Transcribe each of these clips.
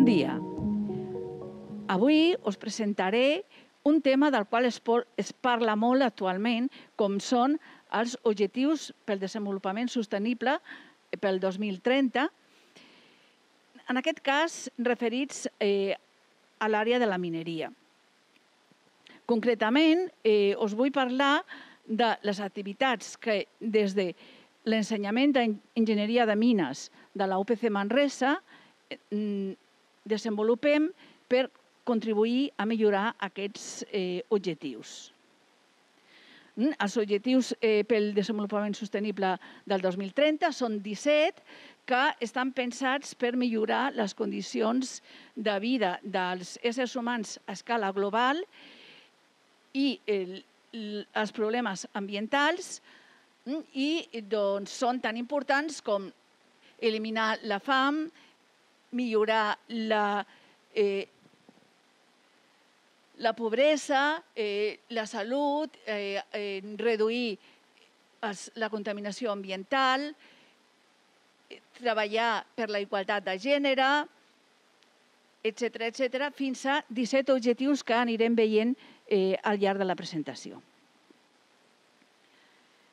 dia. Avui us presentaré un tema del qual es parla molt actualment, com són els objectius pel desenvolupament sostenible pel 2030, en aquest cas referits a l'àrea de la mineria. Concretament, us vull parlar de les activitats que des de l'ensenyament d'enginyeria de mines de la UPC Manresa desenvolupem per contribuir a millorar aquests objectius. Els objectius pel desenvolupament sostenible del 2030 són 17 que estan pensats per millorar les condicions de vida dels éssers humans a escala global i els problemes ambientals i són tan importants com eliminar la fam, millorar la pobresa, la salut, reduir la contaminació ambiental, treballar per la igualtat de gènere, etc., fins a 17 objectius que anirem veient al llarg de la presentació.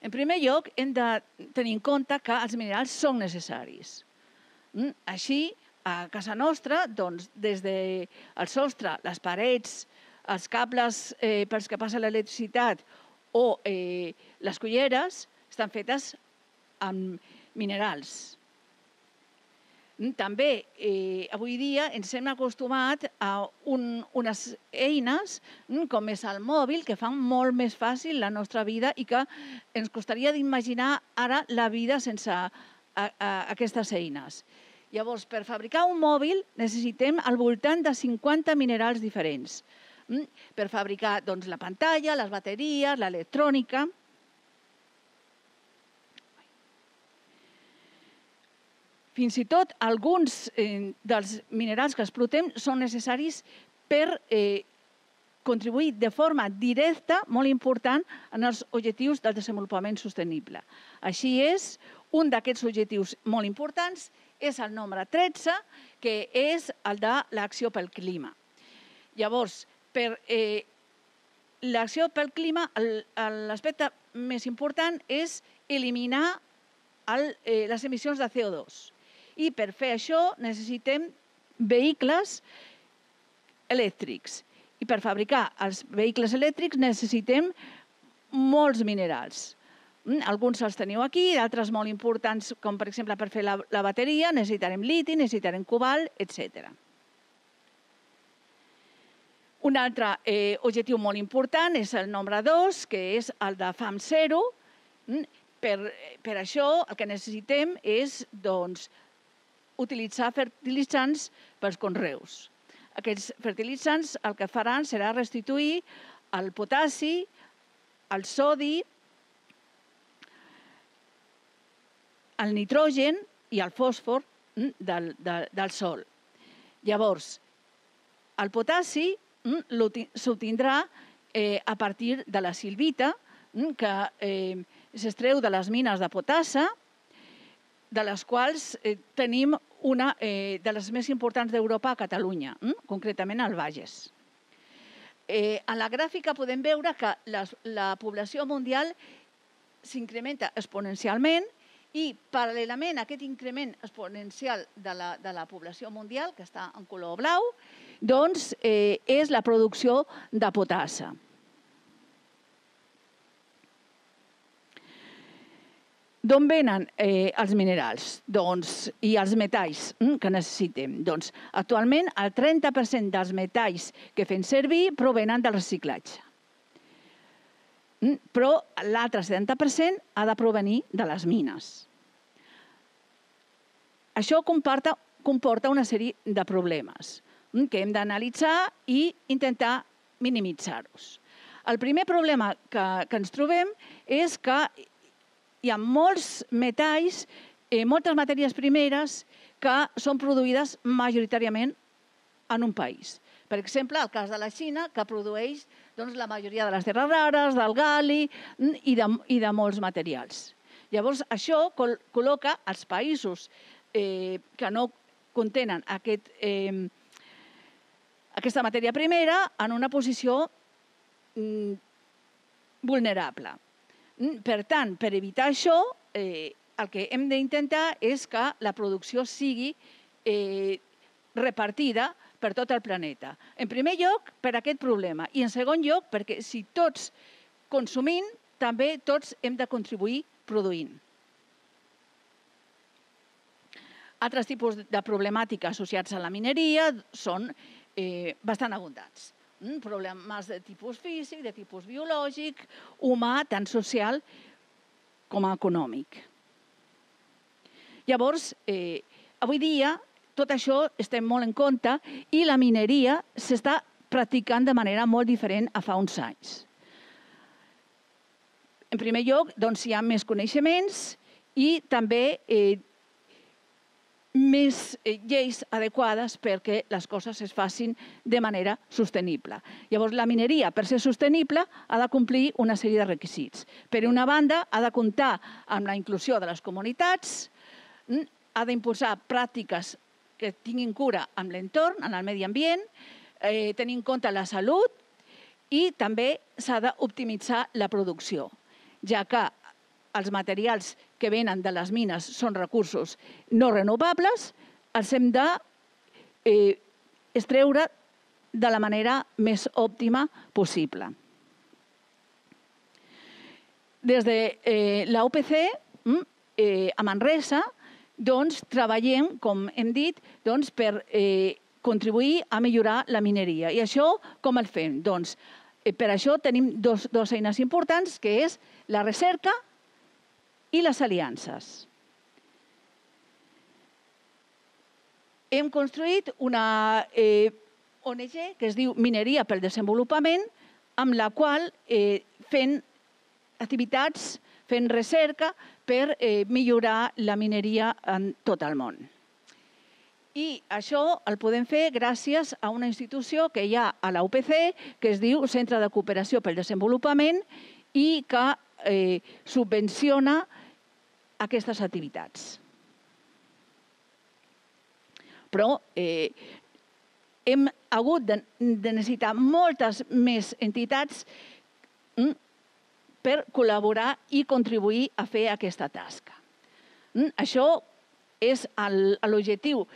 En primer lloc, hem de tenir en compte que els minerals són necessaris. Així, a casa nostra, des del sostre, les parets, els cables pels que passa l'electricitat o les culleres estan fetes amb minerals. També, avui dia, ens hem acostumat a unes eines, com és el mòbil, que fan molt més fàcil la nostra vida i que ens costaria d'imaginar ara la vida sense aquestes eines. Llavors, per fabricar un mòbil necessitem al voltant de 50 minerals diferents. Per fabricar la pantalla, les bateries, l'electrònica. Fins i tot alguns dels minerals que explotem són necessaris per contribuir de forma directa, molt important, en els objectius del desenvolupament sostenible. Així és, un d'aquests objectius molt importants és el nombre 13, que és el de l'acció pel clima. Llavors, per l'acció pel clima, l'aspecte més important és eliminar les emissions de CO2. I per fer això necessitem vehicles elèctrics. I per fabricar els vehicles elèctrics necessitem molts minerals. Alguns els teniu aquí, d'altres molt importants, com per exemple per fer la bateria, necessitarem liti, necessitarem cobalt, etc. Un altre objectiu molt important és el nombre 2, que és el de fam zero. Per això el que necessitem és utilitzar fertilitzants pels conreus. Aquests fertilitzants el que faran serà restituir el potassi, el sodi, el nitrogen i el fòsfor del sòl. Llavors, el potassi s'obtindrà a partir de la silvita, que s'extreu de les mines de potassa, de les quals tenim una de les més importants d'Europa a Catalunya, concretament al Bages. A la gràfica podem veure que la població mundial s'incrementa exponencialment i, paral·lelament a aquest increment exponencial de la població mundial, que està en color blau, és la producció de potassa. D'on venen els minerals i els metalls que necessitem? Actualment, el 30% dels metalls que fem servir provenen del reciclatge. Però l'altre 70% ha de provenir de les mines. Això comporta una sèrie de problemes que hem d'analitzar i intentar minimitzar-los. El primer problema que ens trobem és que hi ha molts metalls, moltes matèries primeres que són produïdes majoritàriament en un país. Per exemple, el cas de la Xina, que produeix la majoria de les terres rares, del gal·li i de molts materials. Llavors, això col·loca els països que no contenen aquest aquesta matèria primera en una posició vulnerable. Per tant, per evitar això, el que hem d'intentar és que la producció sigui repartida per tot el planeta. En primer lloc, per aquest problema. I en segon lloc, perquè si tots consumim, també tots hem de contribuir produint. Altres tipus de problemàtica associats a la mineria són bastant abundants. Problemes de tipus físic, de tipus biològic, humà, tant social com econòmic. Llavors, avui dia, tot això estem molt en compte i la mineria s'està practicant de manera molt diferent a fa uns anys. En primer lloc, doncs, hi ha més coneixements i també més lleis adequades perquè les coses es facin de manera sostenible. Llavors, la mineria, per ser sostenible, ha de complir una sèrie de requisits. Per una banda, ha de comptar amb la inclusió de les comunitats, ha d'impulsar pràctiques que tinguin cura amb l'entorn, en el medi ambient, tenir en compte la salut i també s'ha d'optimitzar la producció, ja que els materials que venen de les mines són recursos no renovables, els hem d'extreure de la manera més òptima possible. Des de la UPC, a Manresa, treballem, com hem dit, per contribuir a millorar la mineria. I això com el fem? Per això tenim dues eines importants, que és la recerca i les aliances. Hem construït una ONG que es diu Mineria pel Desenvolupament, amb la qual fem activitats, fent recerca per millorar la mineria en tot el món. I això el podem fer gràcies a una institució que hi ha a la UPC, que es diu Centre de Cooperació pel Desenvolupament i que subvenciona aquestes activitats. Però hem hagut de necessitar moltes més entitats per col·laborar i contribuir a fer aquesta tasca. Això és l'objectiu,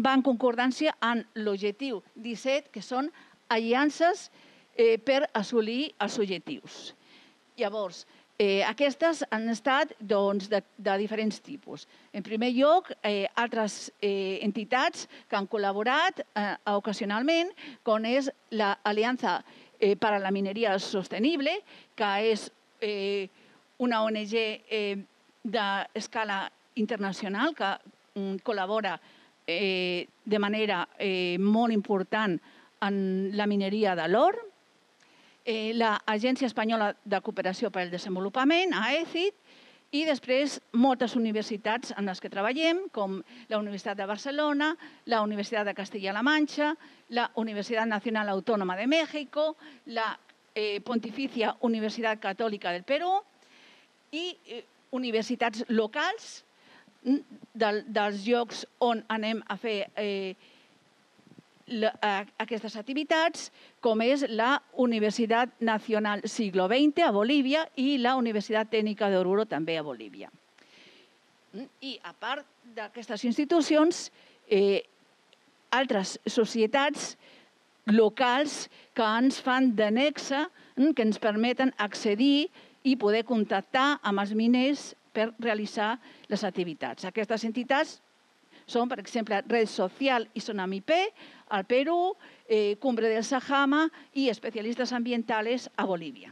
va en concordància amb l'objectiu 17, que són aliances per assolir els objectius. Llavors, aquestes han estat de diferents tipus. En primer lloc, altres entitats que han col·laborat ocasionalment, com és l'Aliança per a la Mineria Sostenible, que és una ONG d'escala internacional que col·labora de manera molt important en la mineria de l'or, l'Agència Espanyola de Cooperació per al Desenvolupament, AECID, i després moltes universitats en les que treballem, com la Universitat de Barcelona, la Universitat de Castilla-La Mancha, la Universitat Nacional Autónoma de México, la Pontificia Universitat Catòlica del Perú i universitats locals dels llocs on anem a fer aquestes activitats, com és la Universitat Nacional Siglo XX a Bolívia i la Universitat Tècnica d'Oruro també a Bolívia. I a part d'aquestes institucions, altres societats locals que ens fan de nexe, que ens permeten accedir i poder contactar amb els miners per realitzar les activitats. Aquestes entitats són, per exemple, Red Social i Sonamipé al Perú, Cumbre del Sajama i Especialistes Ambientales a Bolívia.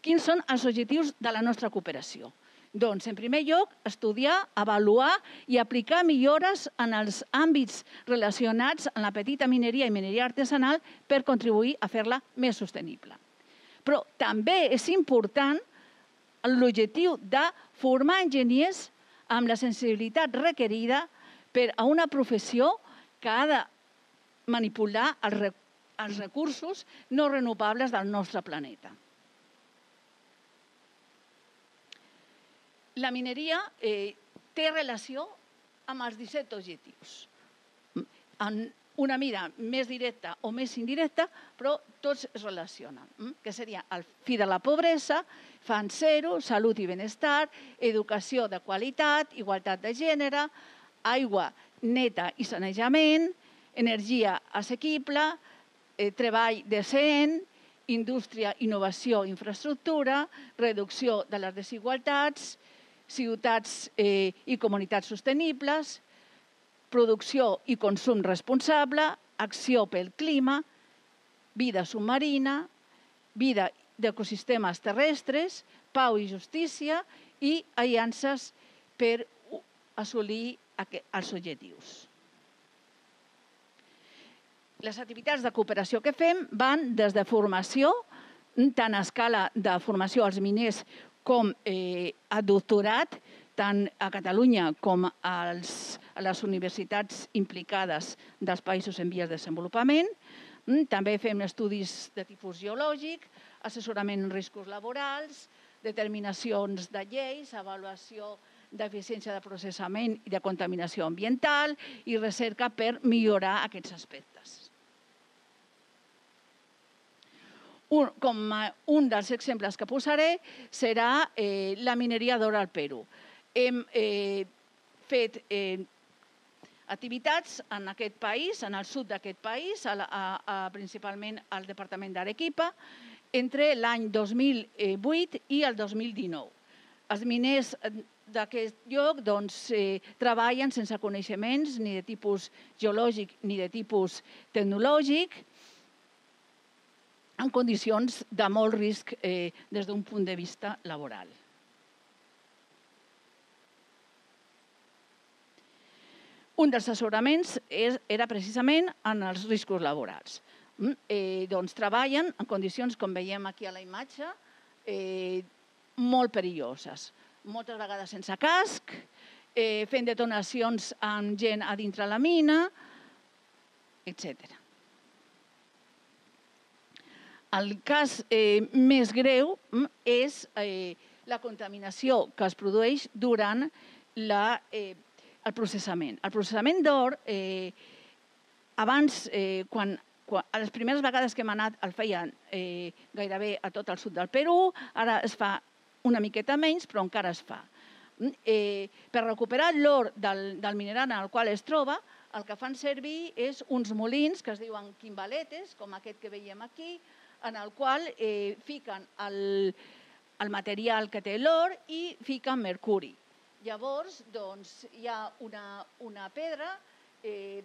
Quins són els objectius de la nostra cooperació? Doncs, en primer lloc, estudiar, avaluar i aplicar millores en els àmbits relacionats amb la petita mineria i mineria artesanal per contribuir a fer-la més sostenible. Però també és important l'objectiu de formar enginyers amb la sensibilitat requerida per a una professió que ha de manipular els recursos no renovables del nostre planeta. La mineria té relació amb els 17 objectius. En una mida més directa o més indirecta, però tots es relacionen, que seria el fi de la pobresa, fan zero, salut i benestar, educació de qualitat, igualtat de gènere, aigua neta i sanejament, energia assequible, treball decent, indústria, innovació, infraestructura, reducció de les desigualtats, ciutats i comunitats sostenibles, producció i consum responsable, acció pel clima, vida submarina, vida d'ecosistemes terrestres, pau i justícia i aliances per assolir els objectius. Les activitats de cooperació que fem van des de formació, tant a escala de formació als miners com a doctorat, tant a Catalunya com a les universitats implicades dels països en vies de desenvolupament. També fem estudis de tipus geològic, assessorament en riscos laborals, determinacions de lleis, avaluació d'eficiència de processament i de contaminació ambiental i recerca per millorar aquests aspectes. Com un dels exemples que posaré serà la mineria d'or al Perú. Hem fet activitats en aquest país, en el sud d'aquest país, principalment al departament d'Arequipa, entre l'any 2008 i el 2019. Els miners d'aquest lloc treballen sense coneixements ni de tipus geològic ni de tipus tecnològic, en condicions de molt risc des d'un punt de vista laboral. Un dels assessoraments era precisament en els riscos laborals. Treballen en condicions, com veiem aquí a la imatge, molt perilloses. Moltes vegades sense casc, fent detonacions amb gent a dintre la mina, etc. El cas més greu és la contaminació que es produeix durant el processament. El processament d'or, abans, a les primeres vegades que hem anat, el feien gairebé a tot el sud del Perú, ara es fa una miqueta menys, però encara es fa. Per recuperar l'or del mineral en el qual es troba, el que fan servir és uns molins que es diuen quimbaletes, com aquest que veiem aquí, en el qual fiquen el material que té l'or i fiquen mercuri. Llavors, hi ha una pedra que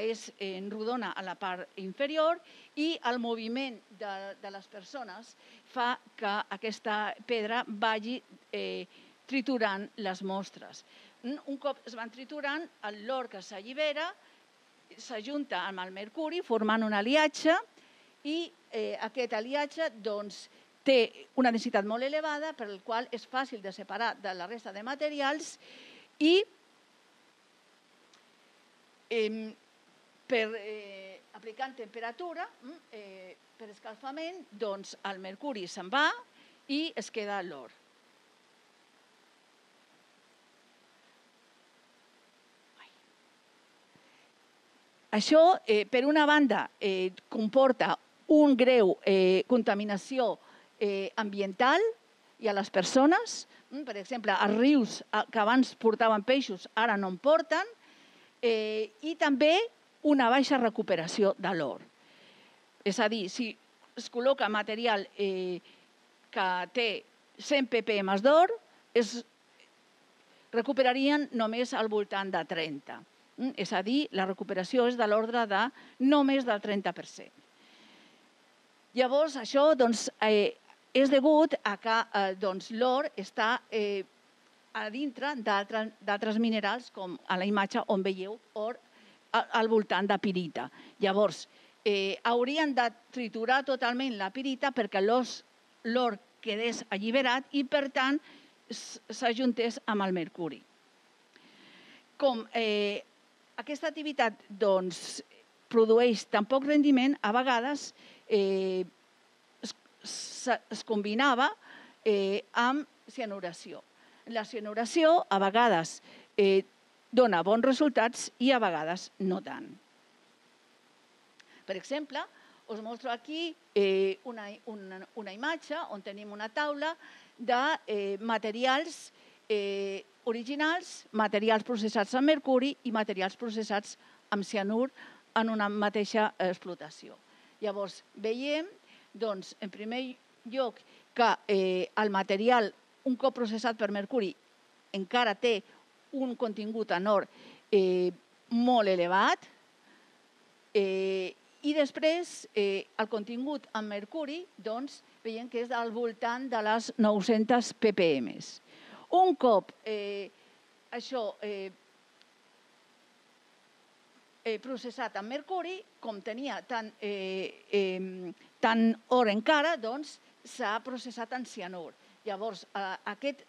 és rodona a la part inferior i el moviment de les persones fa que aquesta pedra vagi triturant les mostres. Un cop es van triturant, l'or que s'allibera s'ajunta amb el mercuri formant un aliatge i aquest aliatge té una densitat molt elevada per la qual és fàcil de separar de la resta de materials i aplicant temperatura per escalfament, el mercuri se'n va i es queda l'or. Això, per una banda, comporta una greu contaminació ambiental i a les persones. Per exemple, els rius que abans portaven peixos ara no en porten i també una baixa recuperació de l'or. És a dir, si es col·loca material que té 100 ppm d'or, es recuperarien només al voltant de 30. És a dir, la recuperació és de l'ordre de no més del 30%. Llavors, això és degut a que l'or està a dintre d'altres minerals, com a la imatge on veieu or al voltant de pirita. Llavors, haurien de triturar totalment la pirita perquè l'or quedés alliberat i, per tant, s'ajuntés amb el mercuri. Com aquesta activitat produeix tan poc rendiment, a vegades es combinava amb cianuració. la cianuració a vegades dona bons resultats i a vegades no tant. Per exemple, us mostro aquí una imatge on tenim una taula de materials originals, materials processats amb mercuri i materials processats amb cianur en una mateixa explotació. Llavors, veiem, doncs, en primer lloc, que el material, un cop processat per mercuri, encara té un contingut en or molt elevat, i després el contingut en mercuri, doncs, veiem que és al voltant de les 900 ppm. Un cop això processat amb mercuri, com tenia tant or encara, doncs s'ha processat en cianur. Llavors, aquest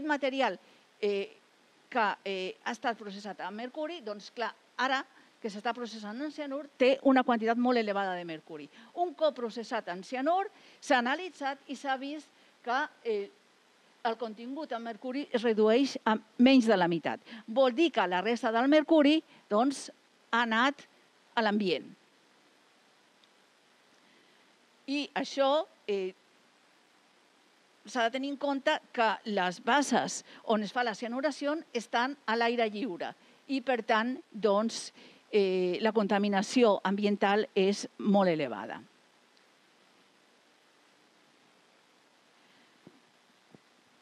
material que ha estat processat amb mercuri, doncs clar, ara que s'està processant en cianur, té una quantitat molt elevada de mercuri. Un cop processat en cianur, s'ha analitzat i s'ha vist que el contingut en mercuri es redueix a menys de la meitat. Vol dir que la resta del mercuri doncs, ha anat a l'ambient. I això s'ha de tenir en compte que les bases on es fa la cianuració estan a l'aire lliure i, per tant, doncs, la contaminació ambiental és molt elevada.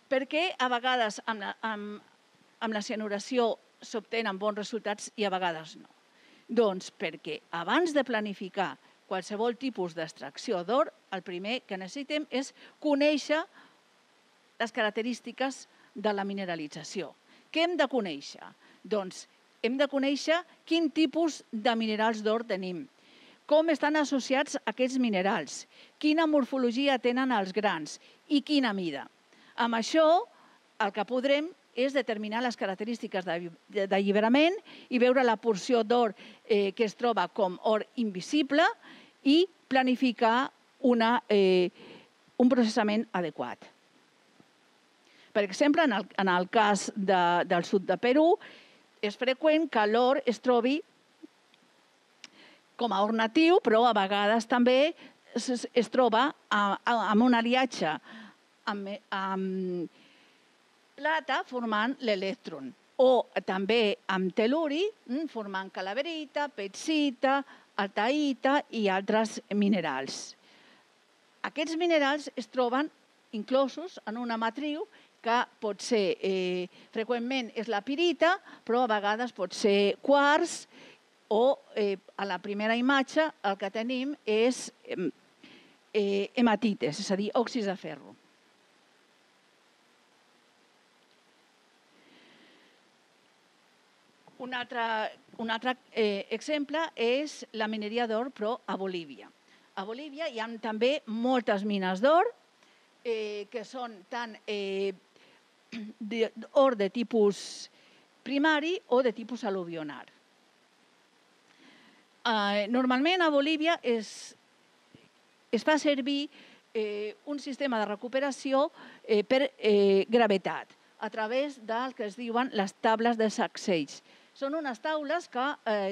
Per què a vegades amb la cianuració s'obtenen bons resultats i a vegades no? Doncs perquè abans de planificar qualsevol tipus d'extracció d'or, el primer que necessitem és conèixer les característiques de la mineralització. Què hem de conèixer? Doncs hem de conèixer quin tipus de minerals d'or tenim, com estan associats aquests minerals, quina morfologia tenen els grans i quina mida. Amb això, el que podrem és determinar les característiques d'alliberament i veure la porció d'or que es troba com or invisible i planificar un processament adequat. Per exemple, en el cas del sud de Perú, és freqüent que l'or es trobi com a or natiu, però a vegades també es troba amb un aliatge amb plata formant l'elèctron, o també amb tel·luri formant calaverita, pezita, altaïta i altres minerals. Aquests minerals es troben inclosos en una matriu que pot ser, freqüentment és la pirita, però a vegades pot ser quars, o a la primera imatge el que tenim és hematites, és a dir, òxids de ferro. Un altre exemple és la mineria d'or, però a Bolívia. A Bolívia hi ha també moltes mines d'or, que són tant or de tipus primari o de tipus al·luvional. Normalment a Bolívia es fa servir un sistema de recuperació per gravetat a través del que es diuen les tables de sacseig. Són unes taules que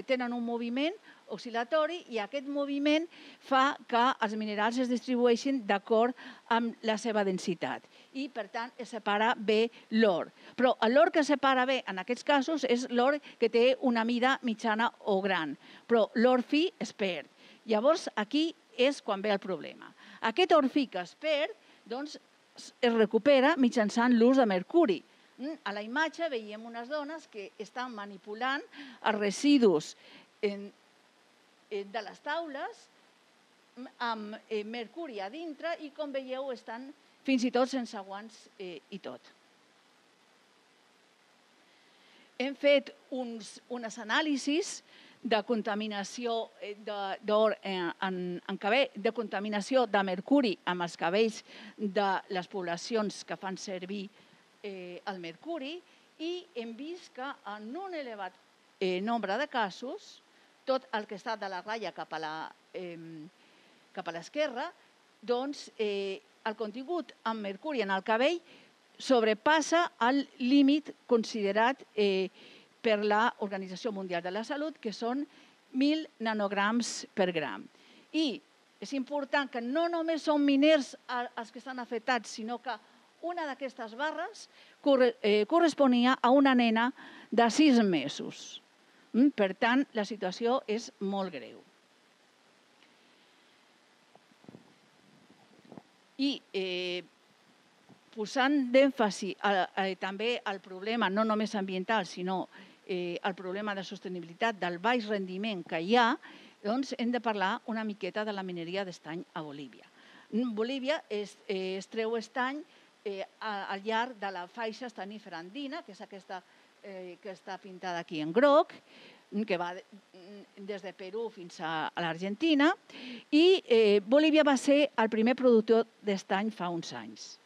tenen un moviment oscil·latori i aquest moviment fa que els minerals es distribueixin d'acord amb la seva densitat i, per tant, es separa bé l'or. Però l'or que separa bé en aquests casos és l'or que té una mida mitjana o gran, però l'or fi es perd. Llavors, aquí és quan ve el problema. Aquest or fi que es perd, doncs, es recupera mitjançant l'ús de mercuri. A la imatge veiem unes dones que estan manipulant els residus de les taules amb mercuri a dintre i, com veieu, estan fins i tot sense guants i tot. Hem fet unes anàlisis de contaminació d'or en cabell, de contaminació de mercuri amb els cabells de les poblacions que fan servir el mercuri i hem vist que en un elevat nombre de casos, tot el que està de la ratlla cap a l'esquerra, doncs el contingut amb mercuri en el cabell sobrepassa el límit considerat per l'Organització Mundial de la Salut, que són 1.000 nanograms per gram. I és important que no només són miners els que estan afectats, sinó que una d'aquestes barres corresponia a una nena de 6 mesos. Per tant, la situació és molt greu. I posant d'èmfasi també el problema, no només ambiental, sinó el problema de sostenibilitat del baix rendiment que hi ha, doncs hem de parlar una miqueta de la mineria d'estany a Bolívia. Bolívia es treu estany al llarg de la faixa estanífera andina, que és aquesta que està pintada aquí en groc, que va des de Perú fins a l'Argentina, i Bolívia va ser el primer productor d'estany fa uns anys.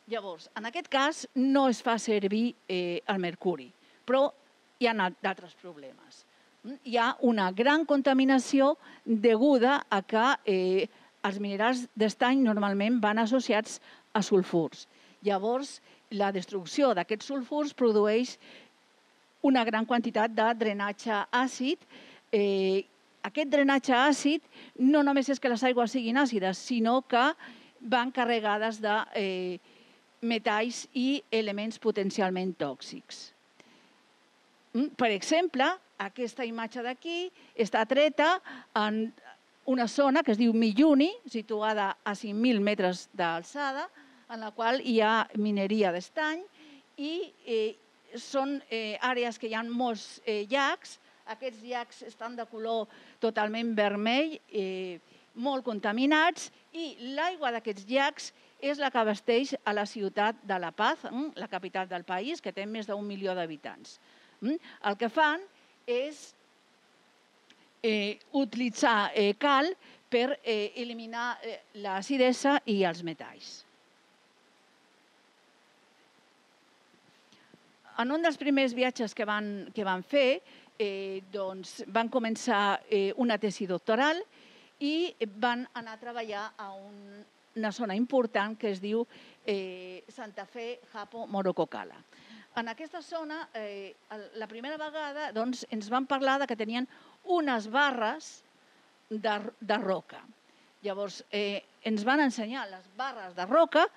Llavors, en aquest cas no es fa servir el mercuri, però hi ha d'altres problemes. Hi ha una gran contaminació deguda a que els minerals d'estany normalment van associats a sulfurs. Llavors, la destrucció d'aquests sulfurs produeix una gran quantitat de drenatge àcid. Aquest drenatge àcid no només és que les aigües siguin àcides, sinó que van carregades de metalls i elements potencialment tòxics. Per exemple, aquesta imatge d'aquí està treta en una zona que es diu Milluni, situada a 5.000 metres d'alçada, en la qual hi ha mineria d'estany i són àrees que hi ha molts llacs. Aquests llacs estan de color totalment vermell, molt contaminats, i l'aigua d'aquests llacs és la que abasteix a la ciutat de La Paz, la capital del país, que té més d'1 milió d'habitants. El que fan és utilitzar cal per eliminar l'acidesa i els metalls. En un dels primers viatges que van fer, van començar una tesi doctoral i van anar a treballar a una zona important que es diu Santa Fe Hapo Morococala. En aquesta zona, la primera vegada ens van parlar que tenien unes barres de roca. Llavors, ens van ensenyar les barres de roca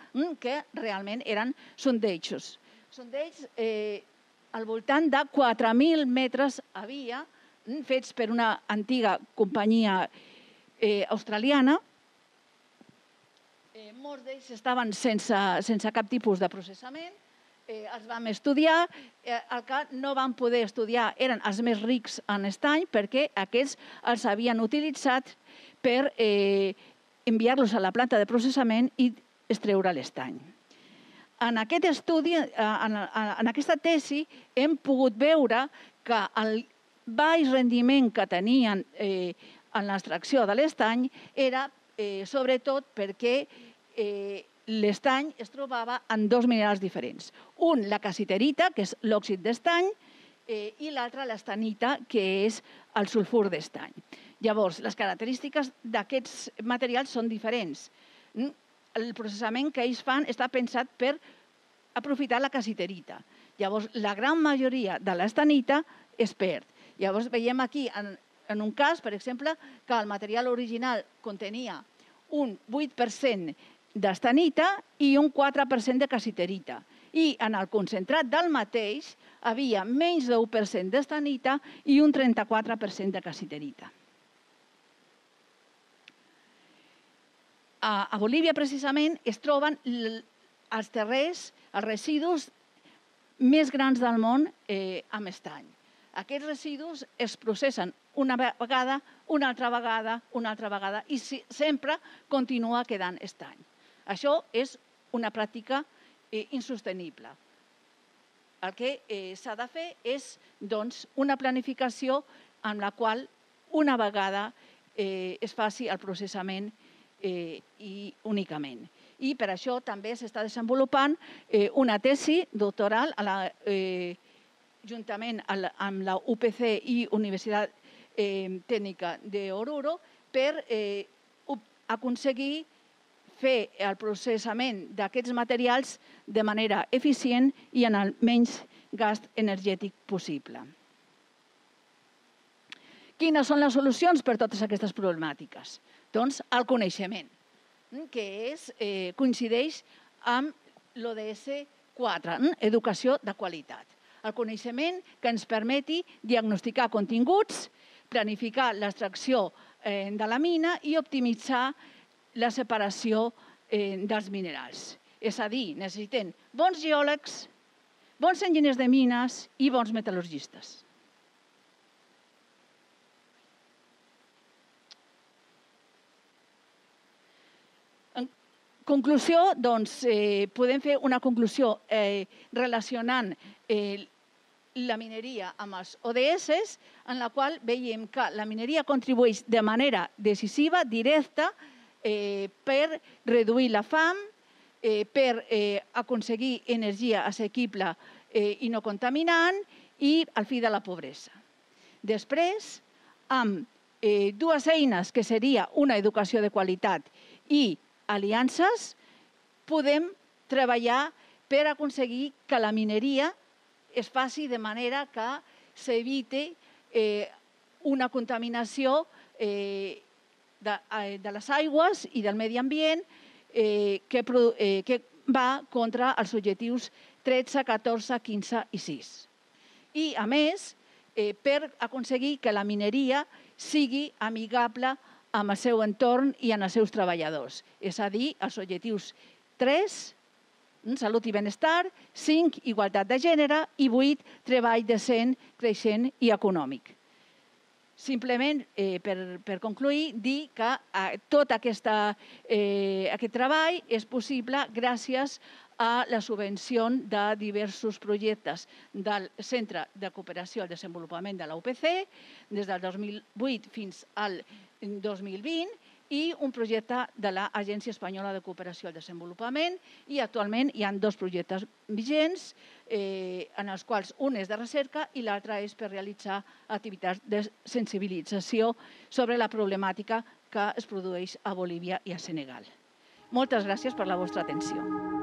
que realment eren sondejos. Sondeigs al voltant de 4.000 metres havia, fets per una antiga companyia australiana. Molts d'ells estaven sense cap tipus de processament. Els vam estudiar. El que no vam poder estudiar eren els més rics en estany, perquè aquests els havien utilitzat per enviar-los a la planta de processament i extreure l'estany. En aquest estudi, en aquesta tesi, hem pogut veure que el baix rendiment que tenien en l'extracció de l'estany era sobretot perquè l'estany es trobava en dos minerals diferents. Un, la cassiterita, que és l'òxid d'estany, i l'altre, l'estanita, que és el sulfur d'estany. Llavors, les característiques d'aquests materials són diferents. El processament que ells fan està pensat per aprofitar la cassiterita. Llavors, la gran majoria de l'estanita es perd. Llavors, veiem aquí, en un cas, per exemple, que el material original contenia un 8% d'estanita i un 4% de cassiterita. I en el concentrat del mateix havia menys de 1% d'estanita i un 34% de cassiterita. A Bolívia, precisament, es troben els terrers, els residus més grans del món amb estany. Aquests residus es processen una vegada, una altra vegada, i sempre continua quedant estany. Això és una pràctica insostenible. El que s'ha de fer és una planificació en la qual una vegada es faci el processament únicament. I per això també s'està desenvolupant una tesi doctoral juntament amb la UPC i Universitat Tècnica d'Oruro per aconseguir fer el processament d'aquests materials de manera eficient i en el menys gast energètic possible. Quines són les solucions per a totes aquestes problemàtiques? Doncs el coneixement, que coincideix amb l'ODS 4, educació de qualitat. El coneixement que ens permeti diagnosticar continguts, planificar l'extracció de la mina i optimitzar la separació dels minerals. És a dir, necessitem bons geòlegs, bons enginyers de mines i bons metal·lurgistes. En conclusió, doncs, podem fer una conclusió relacionant la mineria amb els ODS, en la qual veiem que la mineria contribueix de manera decisiva, directa, per reduir la fam, per aconseguir energia assequible i no contaminant i al fi de la pobresa. Després, amb dues eines, que seria una educació de qualitat i aliances, podem treballar per aconseguir que la mineria es faci de manera que s'eviti una contaminació de les aigües i del medi ambient que va contra els objectius 13, 14, 15 i 6. I, a més, per aconseguir que la mineria sigui amigable amb el seu entorn i amb els seus treballadors. És a dir, els objectius 3, salut i benestar, 5, igualtat de gènere i 8, treball decent, creixent i econòmic. Simplement, per concluir, dir que tot aquest treball és possible gràcies a la subvenció de diversos projectes del Centre de Cooperació al Desenvolupament de la UPC des del 2008 fins al 2020 i un projecte de l'Agència Espanyola de Cooperació al Desenvolupament i actualment hi ha 2 projectes vigents en els quals un és de recerca i l'altre és per realitzar activitats de sensibilització sobre la problemàtica que es produeix a Bolívia i a Senegal. Moltes gràcies per la vostra atenció.